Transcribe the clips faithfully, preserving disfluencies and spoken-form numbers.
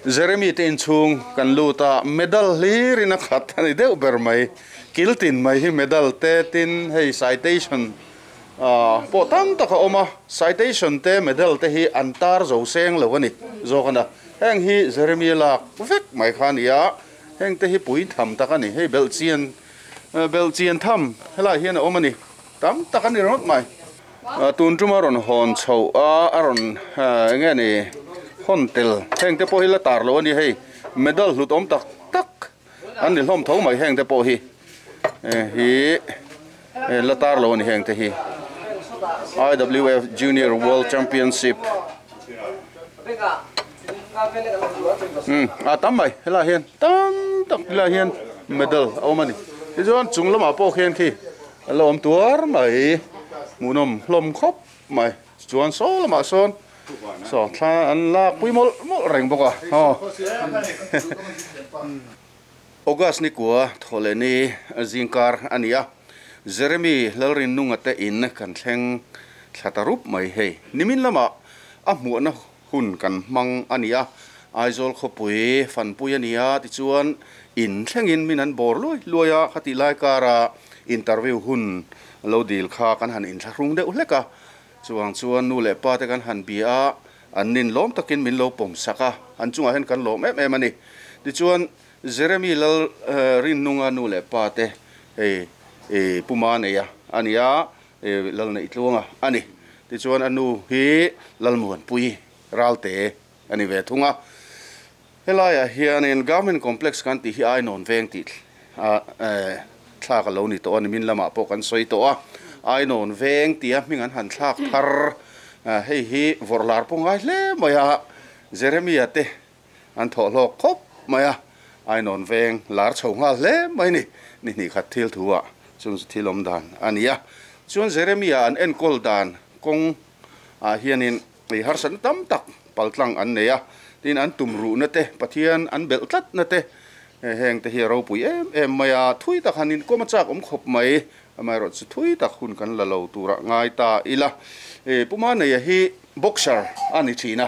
Jeremy te inchhung kan lut a, medal hlir in a khat a ni deuh ber mai. Kiltin mai hi medal te tin hei citation ah pawh tam tak a awm a, citation te medal te hi an tar zo seng lo a ni zawk a na. Heng hi Jeremy lak vek mai kha a ni a, heng te hi pui tham tak a ni. Hei belhchian belhchian tham helaiah hian a awm a ni, tam tak a ni ringawt mai. Tun tuma rawn hawn chhoh a, a rawn eng nge ni hawn tel heng te pawh hi la tar lo a ni. Hei medal hlut awm tak tak an ni hlawm tho mai heng te pawh hi hi la tar lo a ni heng te hi. I W F Junior World Championship um a tam mai helaiah hian tam tak helaiah hian medal a awm a ni. Tichuan chung lamah pawh khian khi a la awm tuar mai hmuhnawm hlawm khawp mai. Chuan saw lamah sawn saw thla an lak pui mawlh mawlh reng bawk a aw. August ni kua thawhleh ni zingkar a ni a, Jeremy Lalrinnunga te in kan thleng thla ta rup mai hei. Nimin lamah a hmuahna hun kan hmang a ni a, Aizawl khawpui fanpui a ni a, tichuan in thlengin min an bawr luai luai a, khatih lai kara interview hun lo dil kha kan han inthlahrung deuh hlek a, chuang chuan nu leh pa te kan han bia a, an nin lawm takin min lo pawm sak a, an chungah hian kan lawm em em a ni. Tichuan Jeremy Lal Rinnunga nu leh pa te hei Puma neia a ni a, Lal neih tluanga a ni. Tichuan a nu hi Lalmuanpui Ralte a ni ve thung a. Helaiah hianin Government Complex kan tih hi Ainawn veng tih thlak a lo ni tawh a, nimin lamah pawh kan sawi tawh a. Ainawn veng tia hming an han thlak thar, hei hi vawrh lar pawh ngai hle mai a, Jeremia te an thawh hlawk khawp mai a, Ainawn veng lar chho nghal hle mai ni, ni hnih khat thil thu ah chung chu thil awm dan a ni a. Chuan Jeremia an enkawl dan kawng ah hianin ei harsatna tam tak paltlang an nei a, tin an tum ruhna te, Pathian an belh tlatna te, heng te hi a ropui em em mai a, thui tak han inkawm a chak awm khawp mai, amaherawh chu thui tak hun kan la lo turah ngai ta ila. Puma neia hi boxer a ni thin a,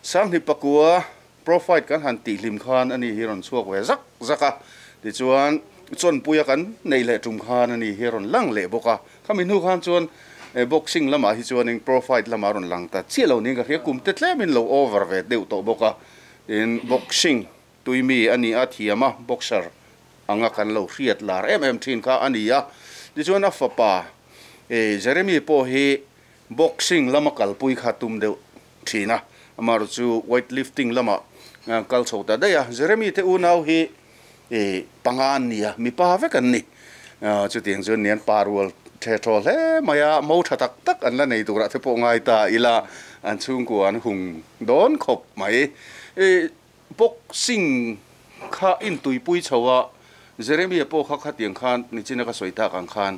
Sanghni pakua profile kan han tih hlim khan ani hi rawn chhuak ve zak zak a, tichuan chawnpuia kan nei leh tum khan ani hi rawn lang leh bawk a, khami hnu khan chuan boxing lamah hi chuanin profile lamah rawn lang ta chiah lo niin ka hria, kum te tlemin lo over ve deuh tawh bawk a, tin boxing tuimi a ni a, thiam a, boxer anga kan lo hriat lar em em thin kha a ni a, tichuan a fapa Jeremy pawh hi boxing lama kalpui kha tum deuh thin a, amaherawh chu weight lifting lamah kal chho ta daih a. Jeremy te unau hi panga an ni a, mipa vek an ni, chutiang chuan nian pa rual the thaw hle mai a, mo tha tak tak an la nei turah te pawh ngai ta ila, an chhungkua an hung dawn khawp mai. Boxing kha intuipui chho a, Jeremia pawh kha khatiang khan nichina ka sawi tak ang khan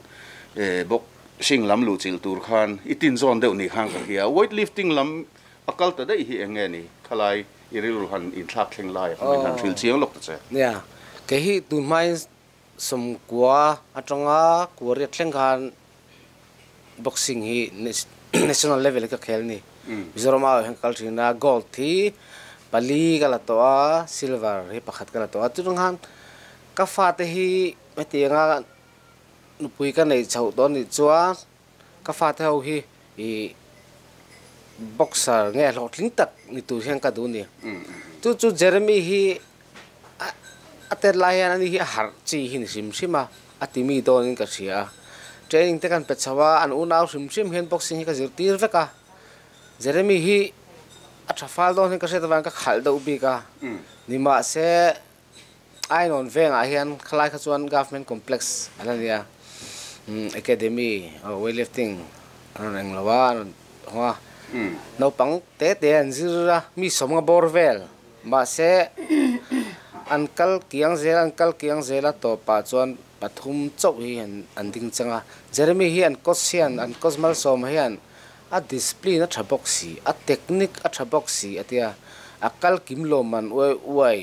boxing lam luh chilh tur khan i tin zawn deuh ni khan ka hria. Weight lifting lam a kal ta daih hi eng nge ni? Khalai i rilru han inthlak thleng lai kha min han hrilh chiang lawk ta che. Nia, kei hi tun hmain sawmkua atanga kua riat thleng khan boxing hi national level ka khel ni. Mizoram ah hian kal thin a, gold hi pali ka la tawh a, silver hi pakhat ka la tawh a. Chutang khan ka fate hi hetianga nupui ka nei chhoh dawn nih chuan ka fate ho hi i boxer nge hlawhtling tak ni tur hian ka duh ni. Chu chu Jeremy hi a tet lai hian ani hi a harh chi hi ni hrim hrim a, a ti mi dawnin ka hria a. Training te kan pe chho a, an unau hrim hrim hian boxing hi ka zirtir vek a. Jeremy hi a tha fal dawn hian ka hriat avangin ka khalh deuh bik a, nimahse Ainawn vengah hian khalai kha chuan government complex a la ni a, academy weightlifting an rawn eng lo a, an rawn hawng a, naupang te te an zir a, mi sawmnga bawr vel, mahse an kal kiang zel an kal kiang zel a tawpah chuan pathum chauh hi an ding chang a. Jeremy hi an coach hian an coach malsawm hian a discipline a tha bawk si, a technique a tha bawk si a tia, a kal kim lawm an uai uai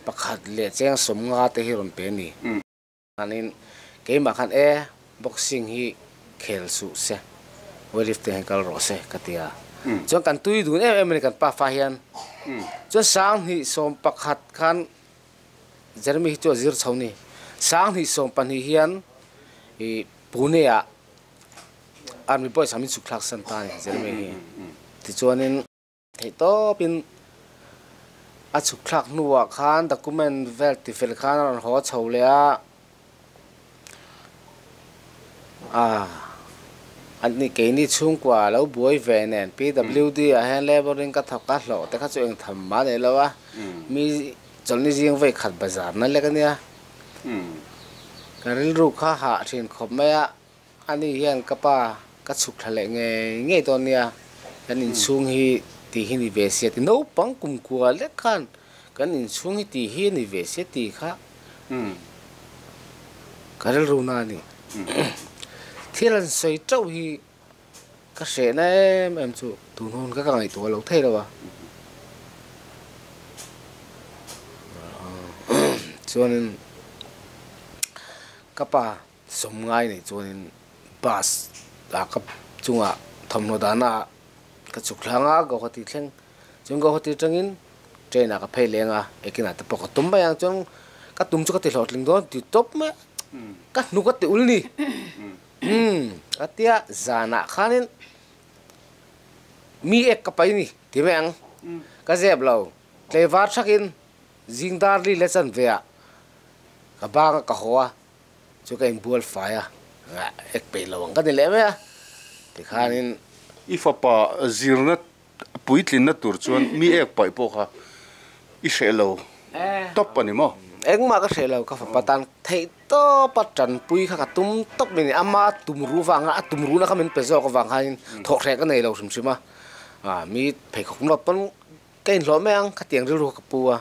pakhat leh cheng sawmnga te hi rawn pe a ni. Anin keimah khan e boxing hi khel suh se, weightlifting hi kal rawh se ka ti a. Chuan kan tui dun em em a ni kan pa fa hian. Chuan sang hnih sawm pakhat khan Jeremy hi chu a zir chho ni. Sang hnih sawm pahnih hian i Pune ah Army boys ah min chhuk thlak san ta a ni Jeremy hi. Tichuanin theih tawpin a chhuk thlak hnuah khan document vel ti fel khan a rawn haw chho leh a. Ah ani keini chhungkua lo buai ve nen P W D ah hian labouring ka thawk a hlawh te kha chu eng tham mah nei lo a mi chawlhni zing vei khat bazar na lek ania ka rilru kha hah thin khawp mai a ani hian ka pa ka chhuk thla leh ngei ngei dawn nia kan inchhung hi ti hi ni ve sia ti naupang kumkua lek khan kan inchhung hi ti hi ni ve sia ti kha ka rilru na ani. Thil an sawi teuh hi ka hrehna em em chu tun hun ka ka ngaihtuah lo thei lo a. Chuanin ka pa sawm ngai nei chuanin bus ah ka chungah thawmhnaw dahna ah ka chhuk thlang a Guwahati thleng chuan Guwahati atangin train ah ka phei leng a ekinah te pawh ka tum mai ang chuan ka tum chu ka ti hlawhtling dawn ti tawp mai a ka hnu ka ti ul ni. Umm a tia zanah khanin mi ek ka pai ni ti mai ang ka zep lo tleivar thakin zing dar li le chan ve ah ka bang a ka haw a chu ka inbual fai a ek peih lo ang ka ni leh mai a tikhanin I fapa zirna puitlinna tur chuan mi ek paih pawh kha i hreh lo tawp a ni maw? Engmah ka hreh lo ka fapa tan theih tawp a tanpui kha ka tum tawp mai ni ama tum ru vanga a tum runa kha min pe zawk avang khanin thawh hreh ka nei lo hrim hrim a ah mi pheikhawk nawt pawn ka inhlawh mai ang khatiang rilru kha ka pu a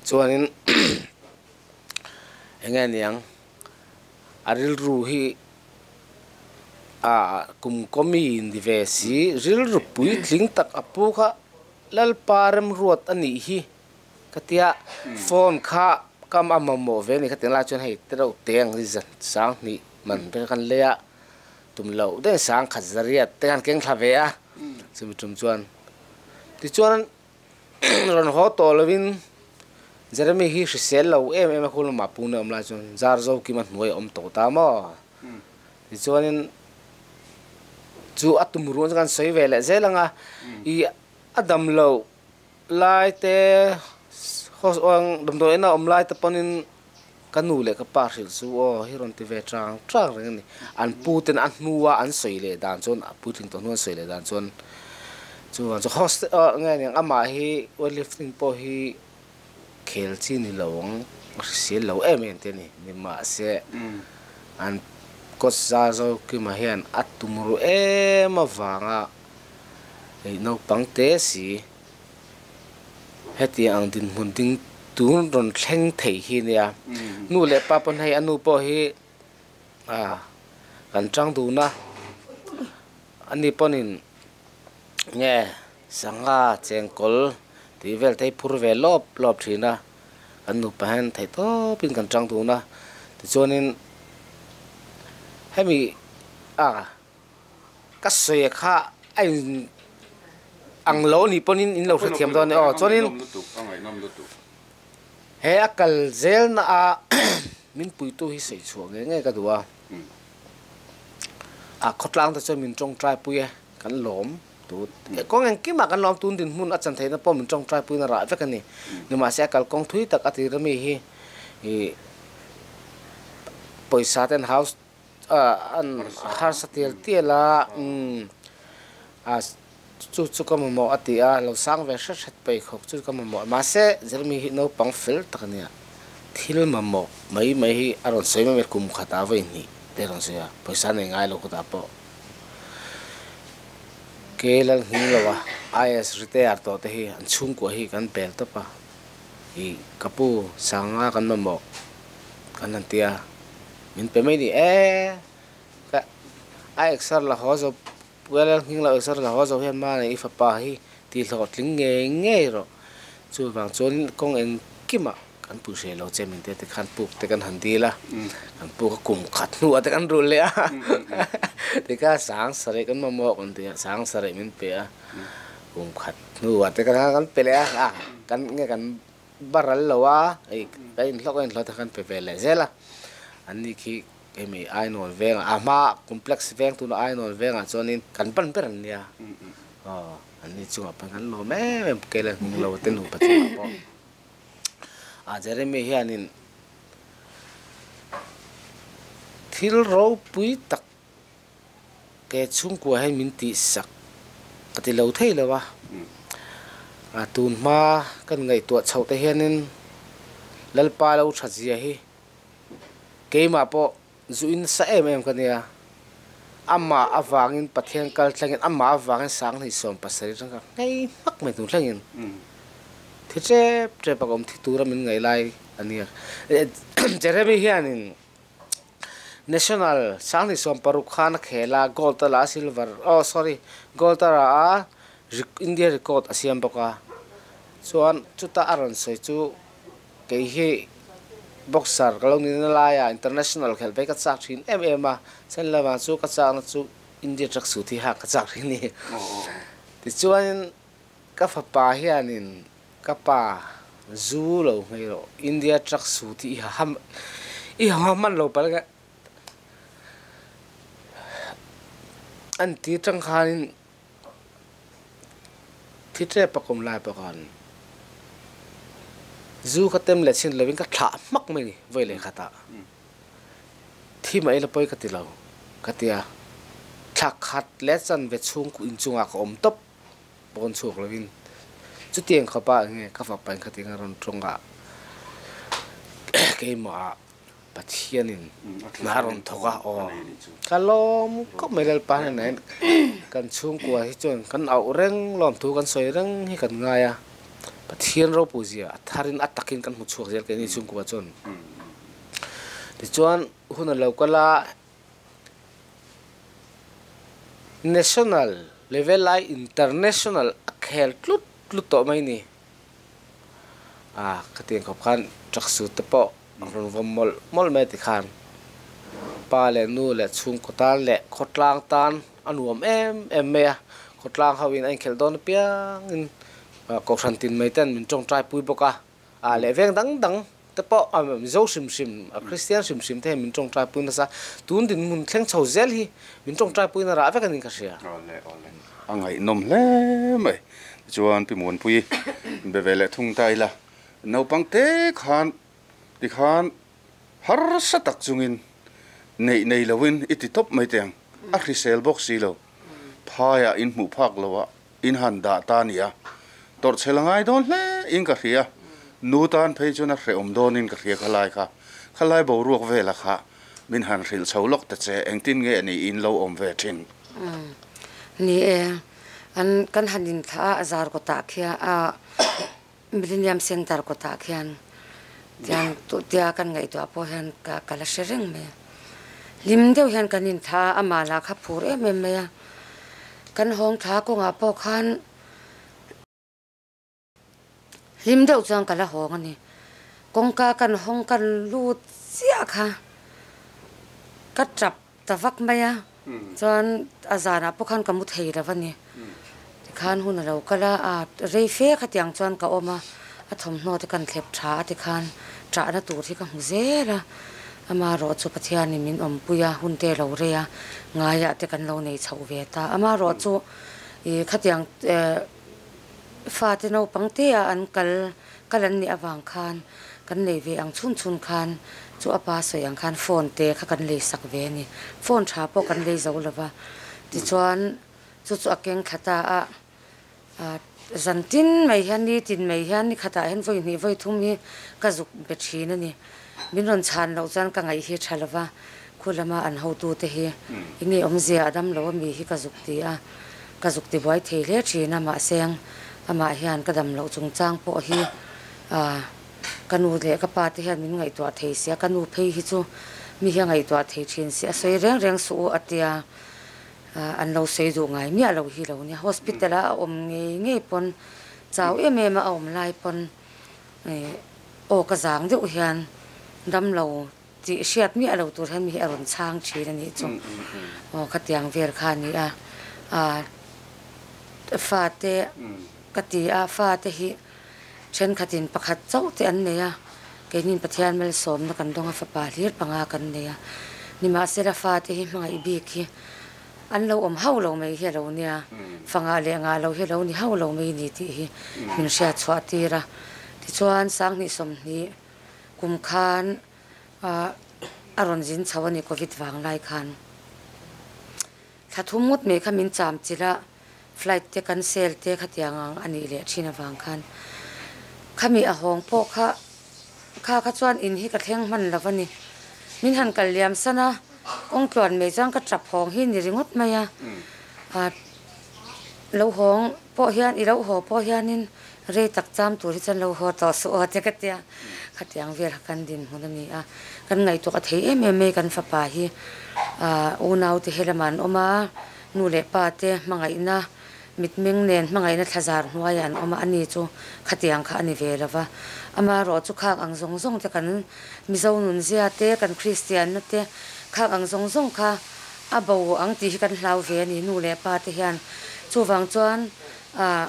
chuanin eng nge niang a rilru hi ah kum kawmi ni ve si rilru puitling tak a pu kha Lalpa remruat a nih hi ka tia phone kha kam a mamawh ve a ni kha tiang lai chuan hei te reuh te ang hi zan sang hnih man te khan lei a tum loh daih sang khat zariat te khan keng thla ve a chumi tum chuan tichuan rawn haw tawh lovin Jeremy hi hrisel lo em em a khu lamah Pune awm lai chuan zar zo kim a hnuai a awm tawh ta maw tichuanin chu a tum ruang chu kan sawi ve leh zel ang a i a dam loh lai te damdawi ena awm lai te pawnin ka nu leh ka pa hrilh chu aw hi rawn ti ve chang chang reng a ni. An pu ten a hnua an sawi leh dan chuan a puitling tawh hnu an sawi leh dan chuan chuvang chu hostel nge niang amah hi weightlifting pawh hi khel chi ni lo ang a hrisel lo em em te a ni. Nimahse an coach za zo Kima hian a tum ru em avanga hei naupang te si hetiang ang dinhmun ding tun rawn thleng thei hi nia. Nu leh pa pawn hei a nu pawh hi ah kan tang dun a ani pawnin nge sangha chengkawl tih vel te hi phur ve lawp lawp thin a kan nupa hian theih tawpin kan tang dun a tichuanin hemi ah ka sawi kha a in ang lo ni pawnin in lo hrethiam dawn a ni aw chuanin he a kal zel na a min puitu hi sawi chhuah ngei ngei ka duh a a khawtlang te chuan min tawngtai pui e kan lawm tu kawng engkimah kan lawm tun dinhmun a chan theihna pawh min tawngtai puiin a rah vek a ni nimahse a kalkawng thui tak a tir ami hi ih pawisa ten house an harsa tial tial a umm a chu chu ka mamawh a ti a lo sang ve hret hret paih khawk chu ka mamawh mahse Jeremy hi naupang fel tak a nia thil mamawh mai mai hi a rawn sawi mai mai kum khatah vawi hnih te a rawn sawi a pawisa nei ngai lo khawtah pawh ke lal nghing lo a I S retire tawh te hi an chhungkua hi kan pel tawp a ih ka pu sanga kan mamawh kan han ti a min pe mai ni e ka a exer la haw zo Puialal nghing lo exer la haw zo hian mahni i fapa hi tih hlawhtling ngei ngei rawh chuvang chuan kawng engkimah kan pui hreh lo che min te tikhan puk te kan han dil a kan puk a kum khat hnuah te kan rulh leh a tikha sang sarih kan mamawh kan ti a sang sarih min pe a Kum khat hnuah te kha kan pe leh a, kan nge kan baral lo a, hei kan inhlawk a inhlawh te kan pe ve leh zel a. An ni khi hemi Ainawn vengah a hma complex veng tuna Ainawn vengah chuanin kan pan ber an nia. Aw an ni chungah pawh kan lawm em em kela hnung lo te nupa chungah pawh. A Jeremy hianin thil ropui tak ke chhungkua hian min tih sak ka ti lo thei lo a. A tun hma kan ngaihtuah chhoh te hianin Lalpa lo tha zia hi keimah pawh zu in sa em em ka nia. Amah avangin Pathian kal thlengin amah avangin Sanghnih sawm pasarih atang ka ngei hmak mai tur thlengin thi tep tep a ka awm thi tura min ngaih lai a nia. Jeremy hianin National Sanghnih sawm paruk khan a khel a, gold a la a, silver oh sorry gold a la a, India record a siam bawk a. Chuan chuta a rawn sawi chu kei hi boxer ka lo ni na laia international khelh phei ka chak thin em em a, chen lamah chu ka chakna chu India truck suit hi hak ka chak thin a ni. Tichuanin ka fapa hianin ka pa zu lo nghei rawh India truck suit hi i ha i ha hman lo palh nge an ti tang khanin thi tep a kawm lai pawh khan zu ka tem leh chin lovin ka thlah hmak mai ni vawi leh khatah thi mai la pawi ka ti lo ka ti a, thla khat leh chanve chhung inchungah ka awm tawp pawn chhuak lovin chutiang khawpa enge ka fapa in khatin a rawn tawng a keimah Pathianin hna a rawn thawk a, aw ka lawm khawp mai Lalpa hnenah hian kan chhungkua hi chuan kan auh reng lawmthu kan sawi reng hi kan ngai a, Pathian ropui zia a tharin a takin kan hmu chhuak zel keini chhungkua chuan. Tichuan hun a lo kal a, national level ai international a khel tlut tlut tawh mai ni. A khatiang khawp khan truck suit te pawh a rawn vawm mawlh mawlh mai tikhan pa leh nu leh chhungkaw tan leh khawtlang tan a nuam em em mai a, khawtlang ho in a inkhelh dawn apiangin kohhran tin mai ten min tawngtai pui bawk a, a leh veng dang dang te pawh a Mizo hrim hrim a Kristian hrim hrim te hian min tawngtai pui nasa, tun dinhmun thleng chho zel hi min tawngtai pui na rah vek a ni ka hria. Awle awle a ngaihnawm hle mai. Tichuan Pi Muanpui be ve leh thung ta ila, naupang te khan tikhan harsa tak chungin neih nei loin i ti tawp mai teh ang, a hrisel bawk si lo, phaiah in hmuh phak loah in han dah ta nia, tawrhchhel a ngai dawn hle in ka hria, nu tan phei chuan a hrehawm dawnin ka hria khalai kha, khalai boruak vela kha min han hrilh chho lawk ta che, engtin nge ni in lo awm ve thin? Ni e, an kan han inthlah a, a zar kawtah khian a Millennium Centre kawtah khian tiang tia kan ngaihtuah pawh hian ka ka la hre reng mai a. Hlim deuh hian kan inthlah a, amah lah kha phur em em mai a. Kan hawng thla kawngah pawh khan hlim deuh chuan ka la hawng a ni. Kawngka kan hawng kan lut chiah kha ka tap ta vak mai a, chuan a zanah pawh khan ka mu thei lo a ni. Tikhan hun a lo kal a, a rei fe khatiang chuan ka awm a, a thawmhnaw te kan thlep tha a tikhan ṭahna tur hi ka hmu zel a. Amaherawh chu Pathianin min awmpui a, hun te lo rei a, ngaiah te kan lo nei chhoh ve ta. Amaherawh chu ih khatiang fate naupang te a an kal kal an nih avang khan kan nei ve ang chhun chhun khan chu a pa sawi ang khan phone te kha kan lei sak ve a ni. Phone tha pawh kan lei zo lova, tichuan chu chu a keng thla ta a, zan tin mai hian ni tin mai hian ni khatah hian vawi hnih vawi thum hi ka zuk be thin a ni. Min rawn chhan loh chuan ka ngaih hi tha lova, khu lama an hotute hi enge awmzia a dam lo a mi hi ka zuk ti a, ka zuk ti buai thei hle thin a, mahse amah hian ka dam loh chungchang pawh hi ka nu leh ka pa te hian min ngaihtuah thei sia, ka nu phei hi chu mi hi a ngaihtuah thei thin si a sawi reng reng suh u a tia, an lo sawi duh ngai miah lo hi lo nia. Hospital a a awm ngei ngei pawn chau em em a a awm lai pawn aw ka zang deuh hian dam lo tih hriat miah lo tur hian mi hi a rawn chhang thin a nih chu. Aw khatiang vel kha a ni a, Fa te ka ti a, fa te hi thenkhatin pakhat chauh te an nei a, keinin Pathian malsawmna kan dawnga fapa hlir panga kan nei a. Nimahsela fa te hi hmangaih bik hi an lo awm hauh lo mai hi a lo nia, fanga leh ngah lo hi a lo ni hauh lo mai ni tih hi min hriat chhuah tir a. Tichuan Sanghnih sawmhnih kum khan a rawn zin chho a ni Covid vang lai khan. Thla thum ngawt mai kha min cham chilh a, flight te cancel te khatiang ang a nih leh thin avang khan khami a hawng pawh kha kha kha chuan in hi ka thleng hman lo a ni. Min han kal liam san a, kawng tluan mai chuan ka tap hawng hi ni ringawt mai a. Lo hawng pawh hian i lo haw pawh hianin rei tak cham tur hi chuan lo haw tawh suh aw te ka tia. Khatiang vel kha kan dinhmun a ni a, kan ngaihtuah a thei em em mai kan fapa hi unau te he lamah an awm a, nu leh pa te hmangaihna mitmeng nen hmangaihna thlazar hnuaiah an awm a, ani chu khatiang kha a ni ve lo va. Amaherawh chu khak ang zawng zawng te kan Mizo nunzia te kan Kristianna te khak ang zawng zawng kha a bo ang tih hi kan hlau ve a ni nu leh pa te hian. Chuvang chuan ah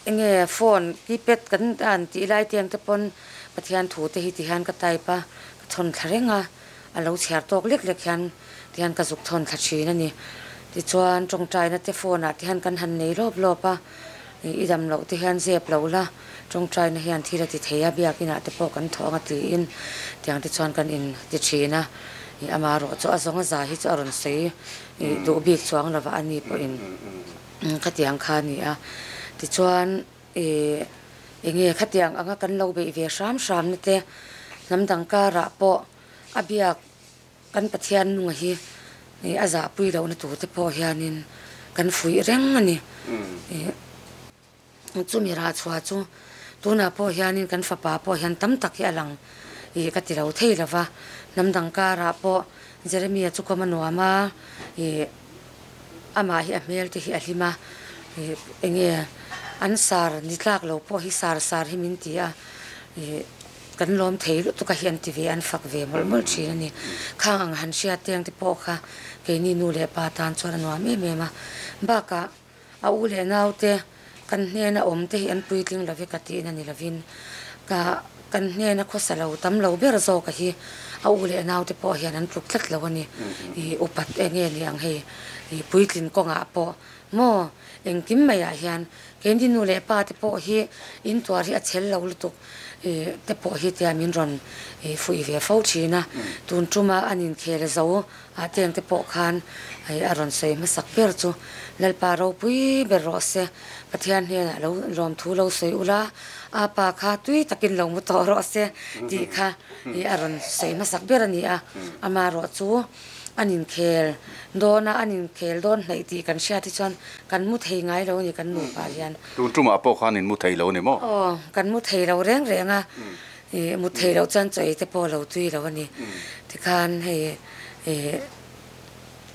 enge phone keypad kan an tih lai te ang te pawn Pathian thu te hi ti hian ka type a, ka thawn thla reng a, a lo chhiar tawk lek lek hian ti hian ka zuk thawn thla thin a ni. Tichuan tawngtaina te phone ah te hian kan han nei lawp lawp a, i dam loh te hian zep lo la, tawngtaina hian thil a ti thei a, biakinah te pawh kan thawh ang a tiin tiang te chuan kan in ti thin a. Amaherawh chu a zawng a za hi chu a rawn sawi duh bik chuang lova a ni pawhin khatiang kha a ni a. Tichuan enge khatiang anga kan lo beih ve hram hram na te hnam dang karah pawh a biak kan Pathian nunga hi a zahpui lohna tur te pawh hianin kan fuih reng a ni. Chumi rah chhuah chu tunah pawh hianin kan fapa pawh hian tam tak hi a lang i ka ti lo thei lova. Hnam dang karah pawh Jeremia chu kawm a nuam a, i amah hi a hmel te hi a hlim a, enge an sar ni tlak lo pawh hi sar sar hi min ti a, i kan lawm thei lutuk a hi an ti ve an fak ve mawlh mawlh thin a ni. Khang ang han hriat teng te pawh kha keini nu leh pa tan chuan a nuam em em a. Bakah a u leh nau te kan hnena awm te hi an puitling love ka tiin a ni lovin ka kan hnena khawsa lo tam lo ber zawk a hi a u leh nau te pawh hian an tluk tlat lo a ni. I upat enge ni ang hei i puitlin kawngah pawh maw engkim maiah hian keini nu leh pa te pawh hi in tuar hi a chhel lo lutuk te pawh hi tia min rawn fuih ve fo thin a. Tun tuma an inkhel zo ah teng te pawh khan a rawn sawi hmasak ber chu Lalpa ropui ber rawh se, Pathian hnenah lo lawm thu lo sawi ula, a pa kha tui takin lo mu tawh rawh se tih kha a rawn sawi hmasak ber a ni a. Amaherawh chu an inkhel dawn a, an inkhel dawn hnaih tih kan hriat hi chuan kan mu thei ngai lo a ni kan nupa hian. Tun tumah pawh khan in mu thei lo a ni maw? Aw, kan mu thei lo reng reng a, mu thei loh chuan chaw ei te pawh lo tui lo a ni. Tikhan hei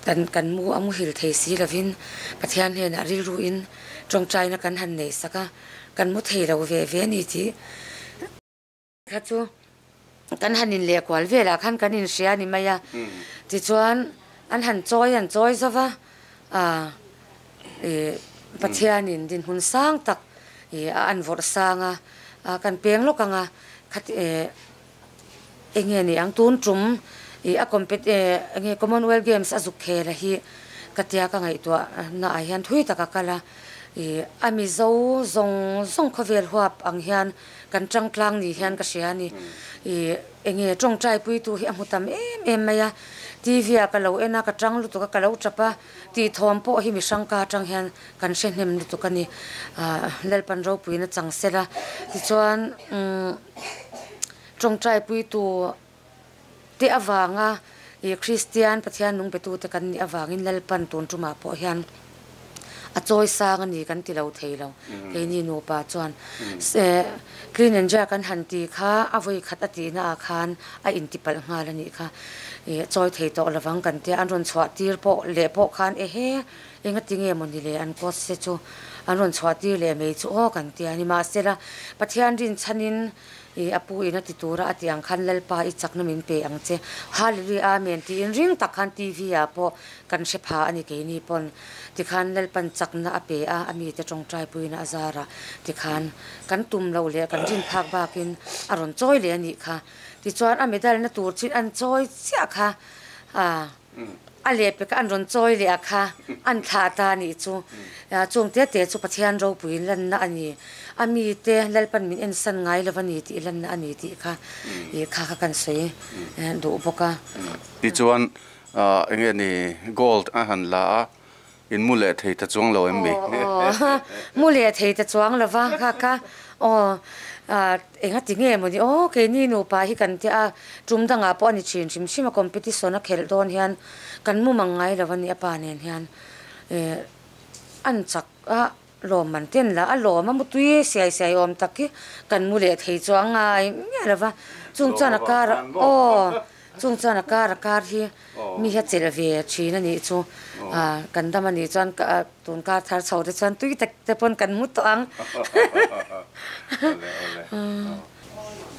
kan kan mu a muhil thei si lovin Pathian hnenah rilruin tawngtaina kan han nei sak a, kan mu thei lo ve ve a ni tih kha chu kan han in leh kual velah khan kan in hria a ni mai a. Tichuan an han chawi an chawi zo va, ah Pathianin dinhmun sang tak a an vawrh sang a, kan peng lawk ang a, khati enge ni ang tun tum a compet enge Commonwealth Games a zuk khel a hi ka tia ka ngaihtuah na ah hian thui tak a kal a, a Mizo zawng zawng khawvel huap ang hian kan tangtlang ni hian ka hria a ni. Enge tawngtai puitu hi a hmu tam em em mai a, T V ah ka lo en a, ka tang lutuk a, ka lo tap a, tih thawm pawh hi mihrang ka atang hian kan hre hnem lutuk a ni. Lalpan ropuina chang sela tichuan tawngtai puitu te avanga i Kristian Pathian nung petu te kan nih avangin Lalpan tun tumah pawh hian a chawi sang a ni kan ti lo thei lo. Keini nupa chuan clean and jerk an han ti kha a vawi khat a tihna ah khan a intipalh nghal a nih kha. Chawi thei tawh lovang kan tia an rawn chhuah tir pawh leh pawh khan ehe enga ti nge maw ni le an coach te chu An rawn chhuah tir leh mai chu aw kan ti a ni. Mahsela Pathian rin chhanin i apu ina ti tura a ti ang khan Lalpa i chakna min pe ang che. Hallelujah amen tiin ring tak khan T V ah pawh kan hre pha a ni keini pawn. Tikhan Lalpan chakna a pe a, a mite tawngtai puina a zara. Tikhan kan tum lo leh kan rin phak bakin a rawn chawi leh a nih kha. Tichuan a medal na tur chin an chawi chiah kha a a leh peka an rawn chawi leh a kha an thlah ta nih chu. Chung te te chu Pathian ropuiin lanna a ni. A mite Lalpan min en san ngai lo a ni tih lanna a ni tih kha i kha kha kan sawi duh bawk a. Tichuan enge ni gold a han la a in mu leh thei ta chuang lo em mi? Mu leh thei ta chuang lo va kha kha aw enga ti nge maw ni aw keini nupa hi kan tia a tum dangah pawh a ni thin hrim hrim a competition a khelh dawn hian kan mu mang ngai lo a ni a pa nen hian an chak a lawm man ten la a lawm a mu tui siai siai awm tak hi kan mu leh thei chuang ngai nge lo va chung chuan a kar aw chung chuan a kar a kar hi mi hi a chelh ve thin a nih chu kan dam a nih chuan tun kar thar chho te chuan tui tak te pawn kan mu tawh ang.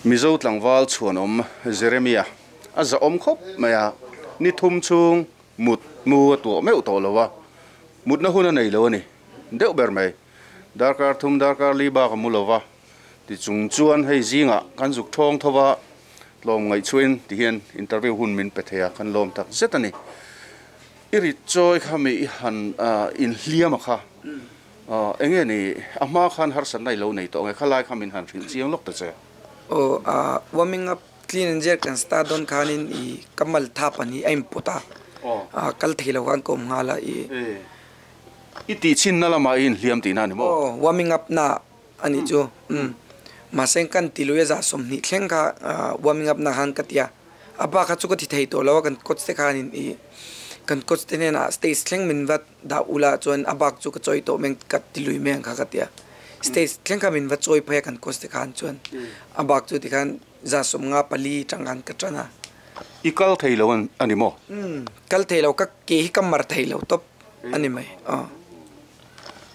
Mizo tlangval chhuanawm Jeremia a za awm khawp mai a ni thum chung mut mu a tuah meuh tawh lo a mutna hun a nei lo a ni deuh ber mai darkar thum darkar li bak a mu lo va ti chung chuan hei zingah kan zuk thawng tho va tlawm ngaih chuin ti hian interview hun min pe thei a kan lawm tak zet a ni. I ri chawi kha mi i han in hliam a kha enge ni a hma khan har san nai lo nei tawh nge kha lai kha min han hrilh chiang lawk ta che. O a warming up clean and jerk kan start don khanin i kamal tha pani aim pota a kal theilo kan kom ngala i i ti chin na lama in hliam ti na ni mo. O warming up na ani chu um ma seng kan tiluya za som ni thleng kha warming up na han katia aba kha chu ka thi thei to lawa kan coach te khanin i kan coach te ne na stage thleng min wat da ula chuan abak chu ka choi to meng kat tilui meng kha katia stage thleng kha min wat choi phaya kan coach te khan chuan abak chu ti khan za som nga pali tangan ka chana i kal thei lo an ani mo. Um kal thei lo ka ke hi kamar thei lo top ani mai a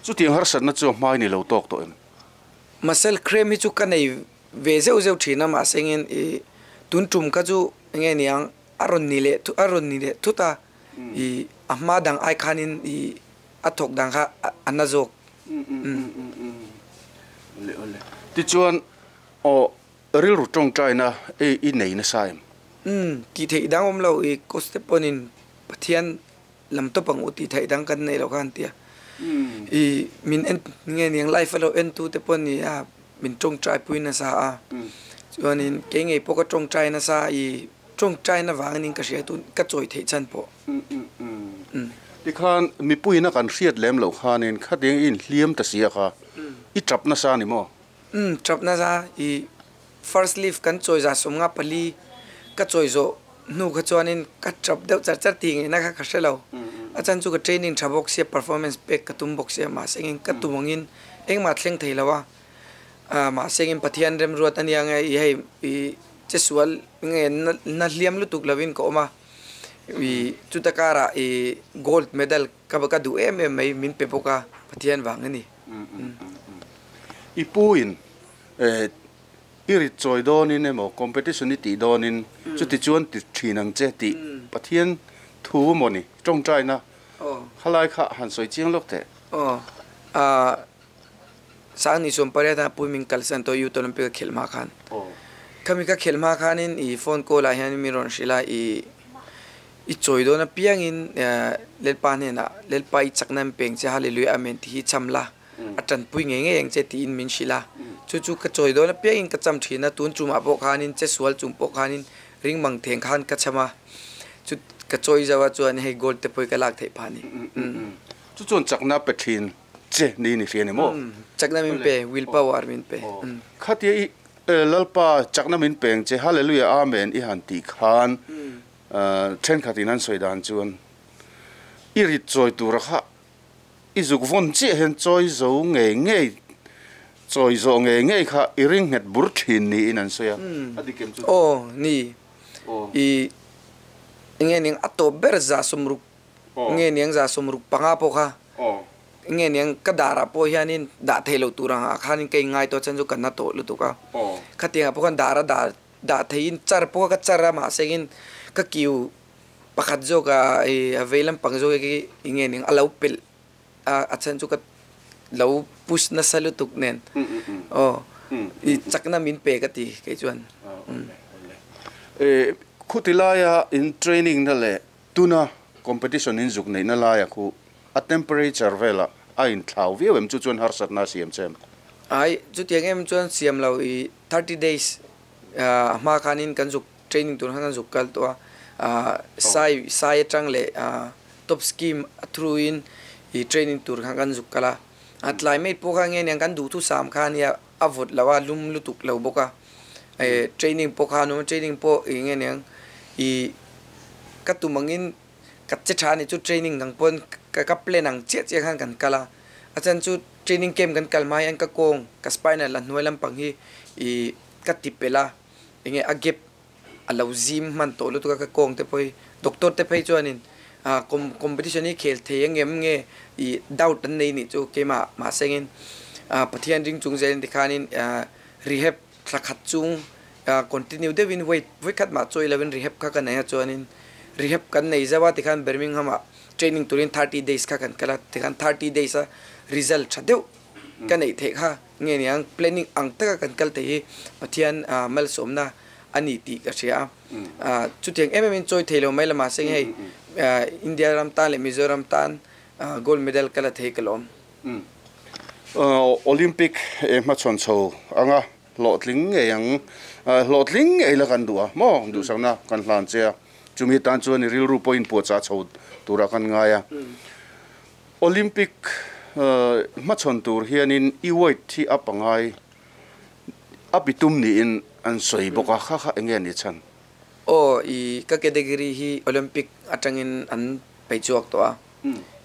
chu tiang har sat na chu mai ni lo tok to em muscle cramp hi chu ka nei ve zeu zeu thina ma sengin i tun tum ka chu nge niang aron ni le thu aron ni le thuta i ahma dang ai khanin i athok dang kha anna jok le ole ti chuan o ril ru tong chai na e i nei na saim um ti thei dang om lo i koste ponin Pathian lam to pang uti thei dang kan nei lo khan tia i min en nge niang life lo en tu te pon ni a min tong chai pui na sa a chuanin ke ngei pawh ka tong chai na sa i tong chai na wangin ka hria tu ka choi thei chan pawh. Ti khan mi pui na kan hriat lem lo khanin khating in hliam ta sia kha i trap na sa ni mo. Um trap na sa i first leaf kan choi za som nga pali ka choi zo nu kha chuanin ka trap deuh char char ti nge na kha kha hrelo achan chu ka training tha bawk sia performance pek ka tum bawk sia ma sengin ka tumangin engma thleng thei lo a ma sengin Pathian rem ruat ania nge i hei i chesual nge na hliam lutuk lovin ka awm a i chutakara i gold medal ka ka du em em mai min pe bawk a Pathian wang ani. I puin eh i ri choi dawnin emaw competition i tih dawnin chuti chuan ti thin ang che tih Pathian thu maw ni tawng chai na khalai kha han sawi chiang lawk te. O a sang ni som pare ta pui min kalsan to Youth Olympic khel ma khan khami ka khel ma khanin i phone call a hian mi ron hrila i i choi dawn a piangin lelpa hne na lelpa i chakna peng che hallelujah amen ti hi chamla a tan pui nge nge yang che ti in min hrila chu chu ka choi dawn a piangin ka cham thina tun chuma pawh khanin che sual chung pawh khanin ring mang theng khan ka chama chu ka choi jawa chuan hei gold te pui ka lak thei phani. Chu chuan chakna pe thin che ni ni hrian emaw chakna min pe will power min pe khatia i lalpa chakna min peng che hallelujah amen i han ti khan then khatin an sawi dan chuan i ri choi tur kha i zuk von che hen choi zo nge nge choi zo nge nge kha i ring het bur thin ni in an sawi a adikem chu o ni i nge ning ato ber za somruk nge niang za somruk panga po kha Nge niang ka dara po hianin da theilo turanga khanin ke ngai to chan chu kan na to lutuka khatinga po kan dara da da thein char po ka chara ma sengin ka kiu pakhat zo ka e aveilam pang zo ki nge ning alo pel a chan chu ka lo push na salutuk nen oh i chakna min pe ka ti ke chuan e khutilaya in training na le tuna competition in zuk nei na la ya khu a temperature vela a in thlau viau em chu chuan har sat na siam chem ai chu tiang em chuan siam lo i thirty days a ma khanin kan zuk training tur han zuk kal to a sai sai atang le top scheme through in i training tur khan kan zuk kala a climate po kha nge nang kan du thu sam khan ya avot lawa lum lutuk lo boka e training po kha no training po i nge nang i katumangin kat che tha ni chu training ngang pon ka ka plan ang che che khan kan kala achan chu training camp kan kalmai an ka kong ka spinal la hnuai lampang hi i ka tipela enge a gap alo zim man to lu tu ka kong te poi doctor te phei chuanin a competition hi khel thei angem nge i doubt an nei ni chu kema ma sengin a pathian ring chung zel ti khanin rehab thlakhat chung continue devin weight wekhat ma choi eleven rehab kha kan ya chuanin rehab kan nei zawa ti khan Birmingham a training turin thirty days kha kan kala ti khan thirty days a result thadeu kan nei the kha nge niang planning ang taka kan kal te hi pathian mal somna ani ti ka ria a chutiang em em in choi theilo mai lama seng hei India ram tan le Mizoram tan gold medal kala thei kalom Olympic e ma chon chho anga lotling nge yang lotling nge la kan duwa mo du sang na kan hlan che chumi tan chuan ril ru point po cha chho tura kan nga ya Olympic ma chon tur hianin i weight thi apangai apitum ni in an soi boka kha kha enge ni chan o i ka category hi Olympic atangin an peichuak to a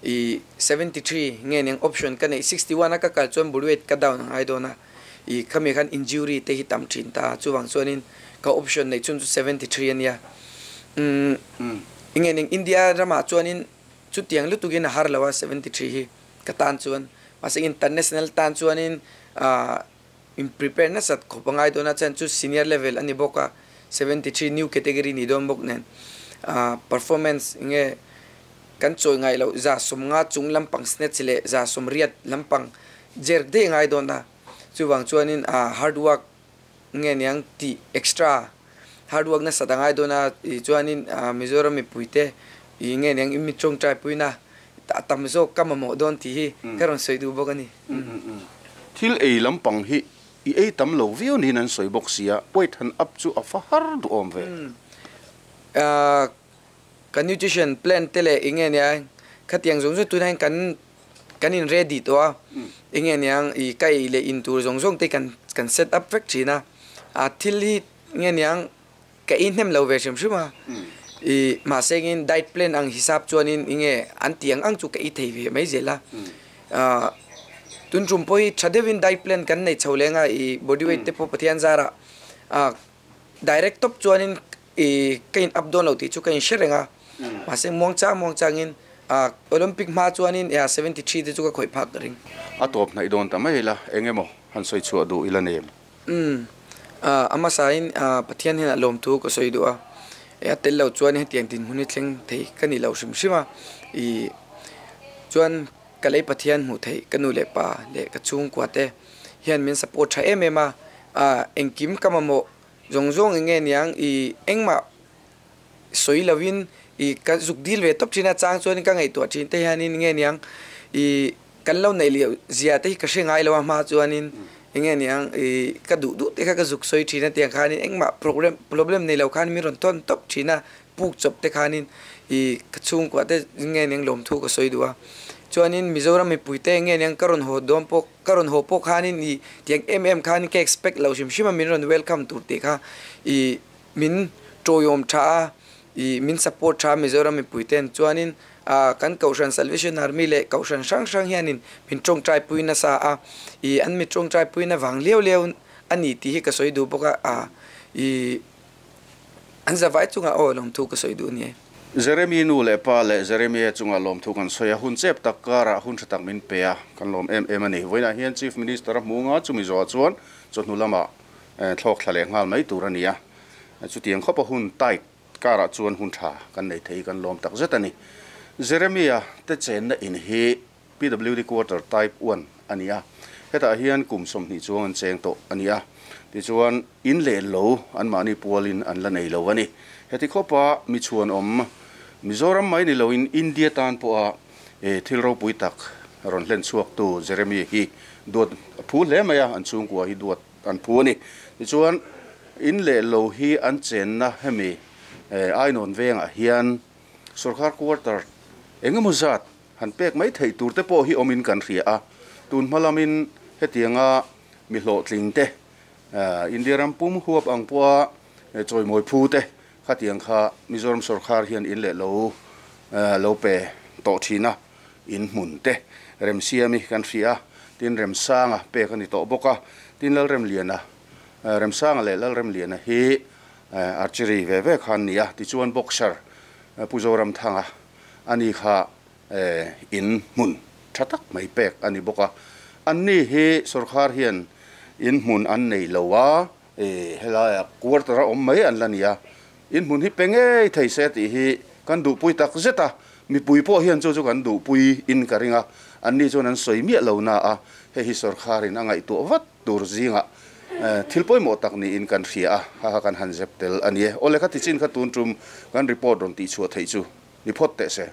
i seventy-three nge neng option ka nei sixty-one ka kal chuan bulwet ka down ai dona i khami khan injury te hi tam thin ta chuwang chuanin ka option nei chun chu seventy-three ania um nge neng India rama chuanin chu tiang lutukin har lawa seventy-three hi ka tan chuan mase international tan chuanin a in preparedness at khopangai dona chan chu senior level ani boka seventy-three new category ni don bok nen a performance nge kan choi ngai lo za somnga chung lampang snatch le za somriat lampang jer de ngai don na chuwang chuanin a hard work nge niang ti extra hard work na sadangai dona chuanin Mizoram mi puite i nge niang imi chong trai puina ta tam zo kamamo don ti hi karon soi du bok ani thil ei lampang hi i ei tam lo viu ni nan soi bok sia weight han up chu a fa har du om ve a kan nutrition plan tele inge nia khatiang zong zong tunain kan kan in ready to a inge niang i kai le in tur zong zong te kan kan set up vek thina a thil hi nge niang ka in hem lo ve shim shima i ma sengin diet plan ang hisap chuanin inge an tiang ang chu ka i thei ve mai zela a tun tum poi thadevin diet plan kan nei chholenga i body weight te po pathian zara a direct top chuanin i kain up don lo ti chu kain sherenga ma se mong cha mong changin a Olympic ma chuanin ya seventy-three te chu ka khoi phak ring a top nai don ta mai la engemo han soi chu du ila nem um a ama sain a pathian hin lom thu ko soi du a ya tel lo chuan he tiang tin huni thleng thei kani lo sim sima i chuan kalei pathian mu thei kanu le pa le ka chung kwa te hian min support tha em em a a engkim kamamo zong zong nge niang i engma soi lawin i ka zuk dil ve top china chang chuan ka ngai to chin te hianin nge niang i kan lo nei li zia te ka hre ngai lo ma chuanin nge niang i ka du du te ka ka zuk soi thina te khanin engma problem problem nei lo khan mi ron ton top thina puk chop te khanin i ka chung kwa te nge niang lom thu ka soi duwa chuanin Mizoram mi puite nge niang karon ho dom pok karon ho pok khanin i tiang em em khanin ka expect lo shim shima min ron welcome tur te kha i min toyom tha i min support tha Mizoram mi puiten chuanin a kan Kaushan Salvation Army le Kaushan sang sang hianin min tong trai puina sa a i an mi tong trai puina wang leu leu ani ti hi ka soi du boka a i an zawai chunga o lom thu ka soi du ni. Jeremy nu leh pa leh Jeremy a chunga lawm thu kan sawi a, hun chep tak karah hun tha tak min pe a, kan lawm em em a ni. Vawiinah hian Chief Minister a hmu nga, chumi zawhah chuan chawhnu lamah thlawk thla leh nghal mai tur a ni a. Chutiang khawpa hun tight karah chuan hun tha kan nei thei kan lawm tak zet a ni. Jeremy a te chenna in hi P W D quarter type one a ni a, hetah hian kum sawmhnih chuang an cheng tawh a ni a. Tichuan in leh lo an mahni pualin an la nei lo a ni. Heti khawpa mi chhuan awm Mizoram mai ni loin India tan pawha thil ropui tak rawn hlen chhuak tu Jeremy hi duat phu hle mai a, an chhungkua hi duat an phu a ni. Tichuan in leh lo hi an chenna hemi Ainawn vengah hian sarkar quarter engemaw zat han pek mai thei tur te pawh hi awmin kan hria a. Tun hmalamin hetianga mi hlawhtling te India ram pum huap ang pawha chawimawi phu te khatiang kha Mizoram sarkar hian in leh lo lo pe tawh thina in hmun te remsiami kan hria tin remsanga pek ani tawh bawk a. Tin lal remliana remsanga leh lal remliana hi archery ve ve khan ni a. Tichuan boxer Puzoram thanga ani kha in hmun tha tak mai pek ani bawk a. Anni hi sarkar hian in hmun an nei lo a, helai quarter a awm mai an la ni a. In hmun hi pe ngei thei se tih hi kan duhpui tak zet a, mipui pawh hian chu chu kan duhpui in ka ring a. Anni chuan an sawi miah lo na a, hei hi sarkarin a ngaihtuah vat tur zingah thil pawimawh tak niin kan hria a, ha ha kan han zep tel a ni e. Awle kha tichin kha tun tum kan report rawn tih chhuah theih chu ni phawt teh se.